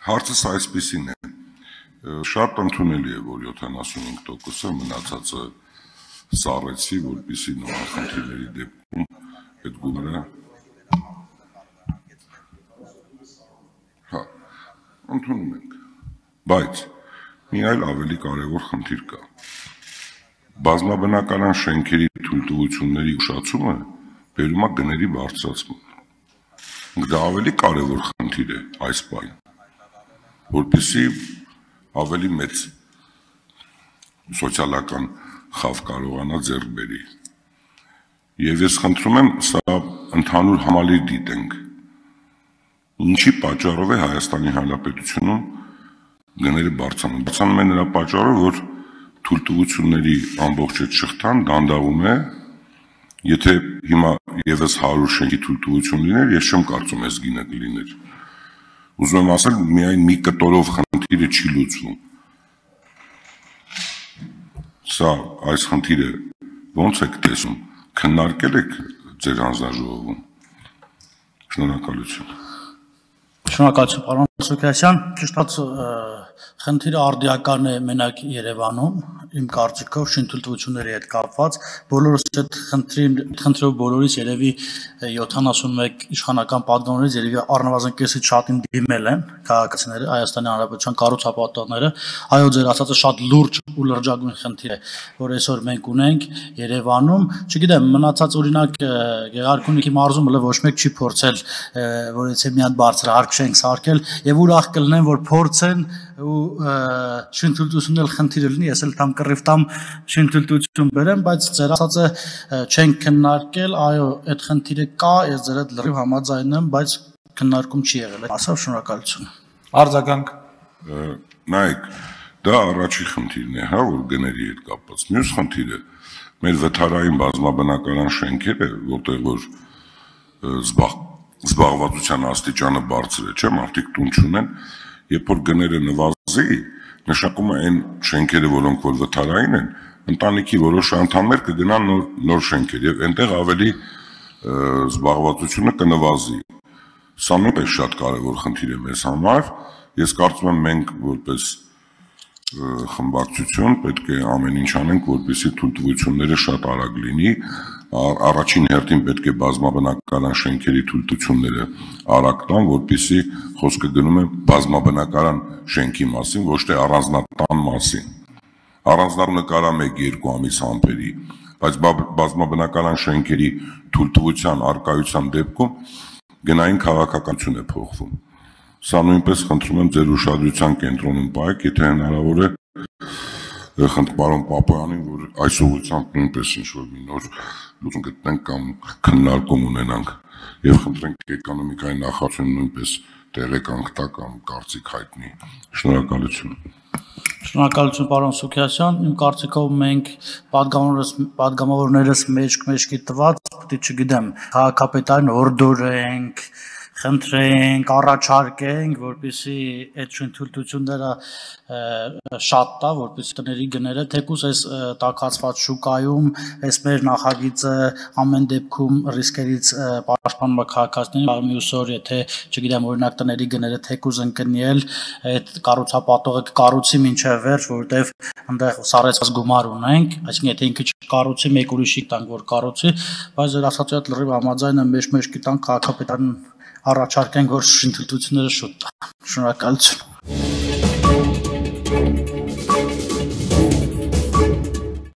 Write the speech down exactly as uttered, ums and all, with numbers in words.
Հարցս այսպիսին է, շատ ընդունելի է, որ յոթանասունհինգ տոկոսը մնացածը սառեցի, որպեսզի նման խնդիրների դեպքում այդ գումարը հա, ընդունում ենք, բայց մի այլ ավելի կարևոր խնդիր կա։ Բազմաբնակարան շենքերի թույլտվությունների ուշացումը բերում է գների բարձրացման։ Դա ավելի կարևոր խնդիր է այս պահին, որպեսզի ավելի մեծ սոցիալական խավ կարողանա ձեռք բերի։ Եվ ես խնդրում եմ սա ընդհանուր համալիր դիտենք, ինչի պատճառով է Հայաստանի Հանրապետությունում գները բարձրանում։ Բարձրանում է նրա պատճառով, որ թույլտվությունների ամբողջ այդ շղթան դանդաղում է, եթե հիմա եւս հարյուր շենքի թույլտվություն լիներ, ես չեմ կարծում այս գինը կլիներ։ Ուզում եմ ասել, միայն մի կտորով խնդիրը չի լուծվում։ Սա այս խնդիրը ո՞նց եք տեսնում, քննարկել եք ձեր հանձնաժողովում։ Շնորհակալություն։ Շնորհակալություն, պարոն Սուքիասյան, ճիշտ խնդիրը արդիական է մենակ Երևանում, իմ կարծիքով շինթույլտվությունների հետ կապված, բոլորս այդ խնդրով բոլորից երևի յոթանասունմեկ իշխանական պատգամներից երևի առնվազն կեսից շատին դիմել են քաղաքացիները, Հայաստանի Հանրապետության կառուցապատողները, այո, ձեր ասածը շատ լուրջ ու լրջագույն խնդիր է, որ այսօր մենք ունենք Երևանում, չգիտեմ, մնացած օրինակ Գեղարքունիքի մարզում հələ ոչ մեկ չի փորձել, որ եթե մի հատ բարձրահարկ շենք սարքել եւ ուրախ կլինեն, որ փորձեն ու շինթույլտվությունն էլ խնդիրը լինի, ես էլ թամ կռիվ տամ շինթույլտվություն բերեմ, բայց ձեր ասածը չենք քննարկել, այո, այդ խնդիրը կա, ես ձեր հետ լրիվ համաձայն եմ, բայց քննարկում չի եղել, ասավ շնորհակալություն։ Արձագանք։ Նայեք, դա առաջի խնդիրն է, հա, որ գների հետ կապված։ Մյուս խնդիրը մեր վթարային բազմաբնակարան շենքերը, որտեղ որ զբաղ զբաղվածության աստիճանը բարձր է, չէ՞, մարդիկ տուն չունեն, երբ որ գները նվազի, նշանակում է այն շենքերը, որոնք որ վթարային են, ընտանիքի որոշ անդամներ կգնան նոր նոր շենքեր եւ այնտեղ ավելի զբաղվածությունը կնվազի։ Սա նույնպես շատ կարևոր խնդիր է մեզ համար։ Ես կարծում եմ մենք որպես խմբակցություն պետք է ամեն ինչ անենք, որպեսզի թույլտվությունները շատ արագ լինի, առաջին հերթին պետք է բազմաբնակարան շենքերի թույլտվությունները արագ տան, որպեսզի խոսքը գնում է բազմաբնակարան շենքի մասին, ոչ թե առանձնատան մասին։ Առանձնատանը կարա մեկ-երկու ամիս ամփերի, բայց բազմաբնակարան շենքերի թույլտվության արկայության դեպքում գնային քաղաքականություն է փոխվում։ Սա նույնպես խնդրում եմ ձեր ուշադրության կենտրոնում պահեք, եթե հնարավոր է խնդրում պարոն Պապոյանին, որ այս ուղղությամբ նույնպես ինչ-որ մի նոր լուծում գտնենք կամ քննարկում ունենանք եւ խնդրենք էկոնոմիկայի նախարարությունը նույնպես տեղեկանք տա կամ կարծիք հայտնի։ Շնորհակալություն։ Շնորհակալություն, պարոն Սուքիասյան, իմ կարծիքով մենք պատգամավորներս մեջք-մեջքի տված, պետք է չգիտեմ, քաղաքապետարին հորդորենք, խնդրենք, առաջարկենք, որպեսզի այդ շինթույլտվությունները շատ տա, որպեսզի տների գները թեկուզ այս տաքացված շուկայում, այս մեր նախագիծը ամեն դեպքում ռիսկերից պաշտպանում է քաղաքացիներին, մյուս օր եթե, չգիտեմ, օրինակ տների գները թեկուզ ընկնել, այդ կառուցապատողը կկառուցի մինչև վերջ, որովհետև այնտեղ սառեցված գումար ունենք, այսինքն եթե ինքը չկառուցի, մեկ ուրիշի տանք, որ կառուցի, բայց ձեր ասածի հետ լրիվ համաձայն եմ, մեջք-մեջքի տանք քաղաքապետարին առաջարկենք, որ շինթույլտվությունները շուտ տա։ Շնորհակալություն։